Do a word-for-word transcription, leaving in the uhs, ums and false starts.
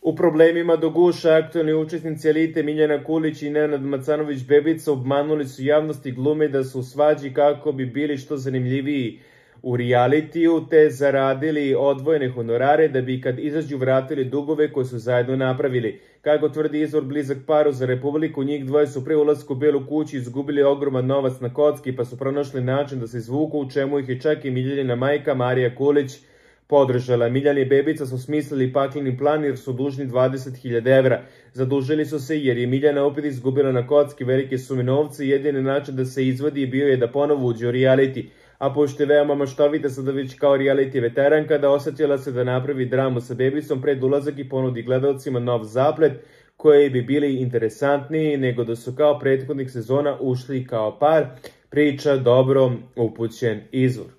U problemima do guša aktualni učesnici Elite Miljana Kulić i Nenad Macanović-Bebica obmanuli su javnost i glume da su u svađi kako bi bili što zanimljiviji u realitiju, te zaradili odvojene honorare da bi kad izađu vratili dugove koje su zajedno napravili. Kako tvrdi izvor blizak paru za Republiku, njih dvoje su pre ulaska u Belu kuću izgubili ogroman novac na kocki pa su pronašli način da se izvuku, u čemu ih je čak i Miljanina majka Marija Kulić podržala. Miljan i Bebica su smislili pakleni plan jer su dužni dvadeset hiljada evra. Zadužili su se jer je Miljana opet izgubila na kocki velike sume novca i jedini način da se izvadi bio je da ponovo uđe u reality. A pošto je veoma maštovita sada već kao reality veteranka, da osetila se da napravi dramu sa Bebicom pred ulazak i ponudi gledalcima nov zaplet koji bi bili interesantniji nego da su kao prethodnih sezona ušli kao par, priča dobro upućen izvor.